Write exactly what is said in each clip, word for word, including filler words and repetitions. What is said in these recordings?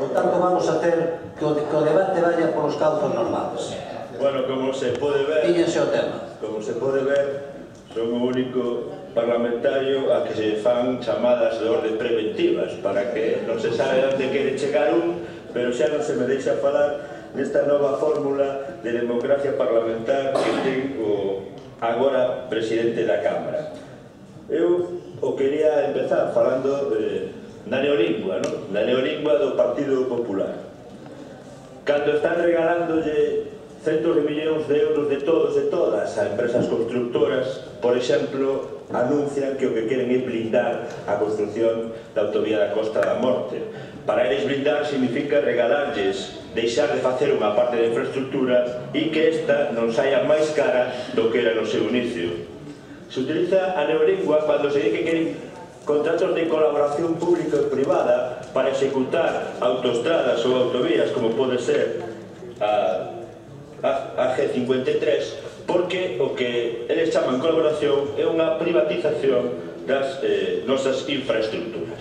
Por tanto, vamos a ter que o, que o debate vaya polos cauces normales. Bueno, como se pode ver, Píllense o tema. como se pode ver, son o único parlamentario a que se fan chamadas de orde preventivas para que non se sabe onde quere chegar un, pero xa non se me deixa falar nesta nova fórmula de democracia parlamentar que ten o agora presidente da Cámara. Eu o quería empezar falando de, na neolingua, non? Na neolingua do Partido Popular. Cando están regalándolle centos de millóns de euros de todos e todas a empresas constructoras, por exemplo, anuncian que o que queren é blindar a construcción da autovía da Costa da Morte. Para eles blindar significa regalarlles, deixar de facer unha parte da infraestructura e que esta non saia máis cara do que era no seu inicio. Se utiliza a neolingua cando se di que queren contratos de colaboración pública e privada para executar autoestradas ou autovías, como pode ser a a G cincuenta e tres, porque o que eles chaman colaboración é unha privatización das eh, nosas infraestructuras.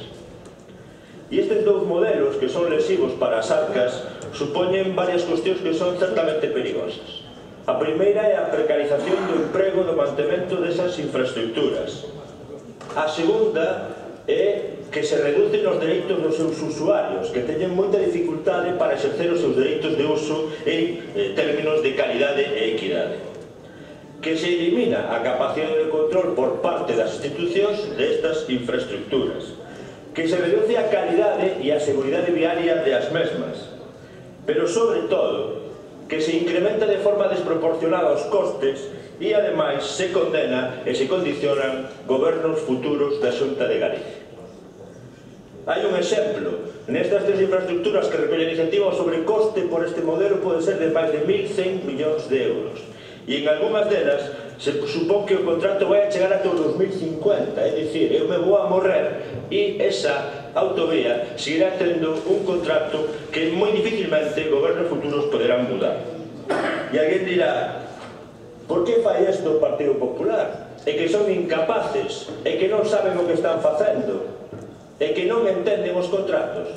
E estes dous modelos, que son lesivos para as arcas, supoñen varias cuestións que son certamente perigosas. A primeira é a precarización do emprego do mantemento desas infraestructuras. A segunda é que se reducen os dereitos dos seus usuarios, que teñen moita dificultade para exercer os seus dereitos de uso en eh, términos de calidade e equidade. Que se elimina a capacidade de control por parte das institucións destas infraestructuras. Que se reduce a calidade e a seguridade viaria das mesmas. Pero, sobre todo, que se incrementa de forma desproporcionada os costes e, ademais, se condena e se condicionan gobernos futuros da Xunta de Galicia. Hai un exemplo. Nestas tres infraestructuras que recolle a iniciativa, o sobrecoste por este modelo pode ser de máis de mil cen millóns de euros. E en algunhas delas se supón que o contrato vai a chegar ata o dos mil cincuenta, é dicir, eu me vou a morrer e esa autovía seguirá tendo un contrato que moi dificilmente gobernos futuros poderán mudar. E alguén dirá, por que fai isto o Partido Popular? É que son incapaces, é que non saben o que están facendo, é que non entenden os contratos.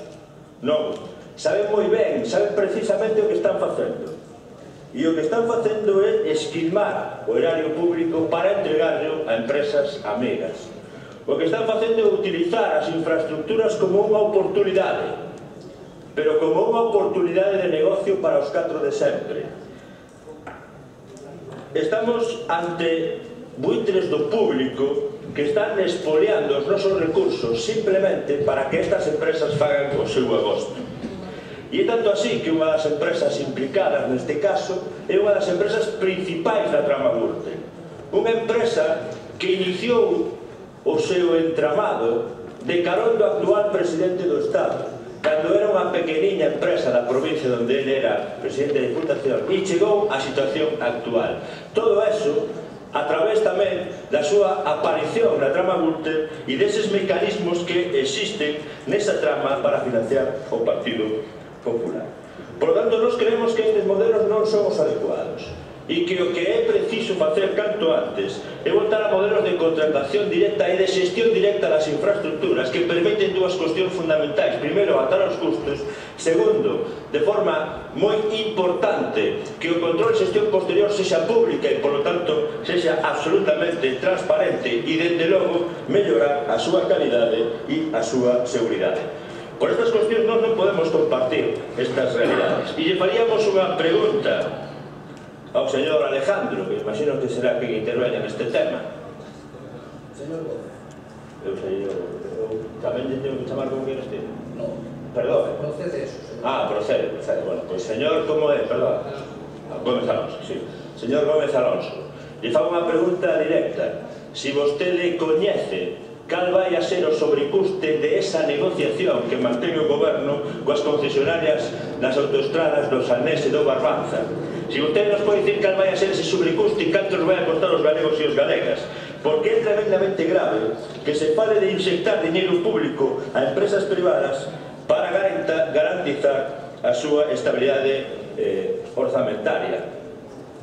Non, saben moi ben, saben precisamente o que están facendo. E o que están facendo é esquilmar o erario público para entregarlo a empresas amigas. O que están facendo é utilizar as infraestructuras como unha oportunidade, pero como unha oportunidade de negocio para os catro de sempre. Estamos ante buitres do público que están expoliando os nosos recursos simplemente para que estas empresas fagan o seu agosto. E é tanto así que unha das empresas implicadas neste caso é unha das empresas principais da trama Gürtel. Unha empresa que iniciou o seu entramado de carón do actual presidente do Estado, cando era unha pequeniña empresa da provincia onde ele era presidente da Diputación, e chegou á situación actual. Todo eso a través tamén da súa aparición na trama Gürtel e deses mecanismos que existen nesa trama para financiar o Partido Popular. Por lo tanto, nós creemos que estes modelos non son os adecuados e que o que é preciso facer canto antes é voltar a modelos de contratación directa e de xestión directa das infraestructuras que permiten dúas cuestións fundamentais. Primeiro, atar os custos. Segundo, de forma moi importante, que o control e xestión posterior sexa pública e, por lo tanto, sexa absolutamente transparente e, dende logo, mellorar a súa calidade e a súa seguridade. Por estas cuestións nós non podemos compartir estas realidades. E lle faríamos unha pregunta ao señor Alejandro, que imagino que será quen interveña neste tema. Señor Gómez. Eu sei, eu tamén lle tengo que chamar como que este? Non. Perdón. Procede eso, señor. Ah, procede, procede. Bueno, pois señor, como é? Perdón. Gómez Alonso, sí. Señor Gómez Alonso, lle fago unha pregunta directa. Si vostede coñece cal vai a ser o sobrecuste de esa negociación que mantén o goberno coas concesionarias nas autoestradas do Salnés e do Barbanza. Si vostede nos pode dicir cal vai a ser ese sobrecuste e canto nos vai a costar os galegos e os galegas, porque é tremendamente grave que se fale de inyectar dinheiro público a empresas privadas para garantizar a súa estabilidade eh, orzamentaria.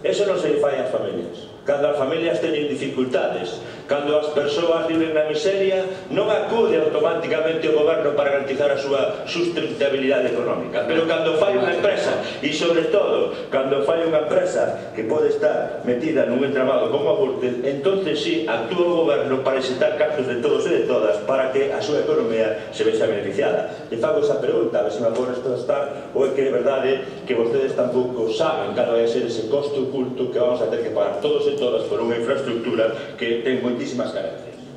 Eso non se lle fai ás familias. Cando as familias teñen dificultades Cando as persoas viven na miseria, non acude automáticamente o goberno para garantizar a súa sustentabilidade económica. Pero cando fai unha empresa, e sobre todo, cando fai unha empresa que pode estar metida nun entramado como a Gürtel, entonces sí, actúa o goberno para exetar cartos de todos e de todas para que a súa economía se vexa beneficiada. E fago esa pregunta, a ver se me podes contestar, ou é que é verdade que vostedes tampouco saben cal vai ser ese costo oculto que vamos a ter que pagar todos e todas por unha infraestructura que ten moitísimas carencias.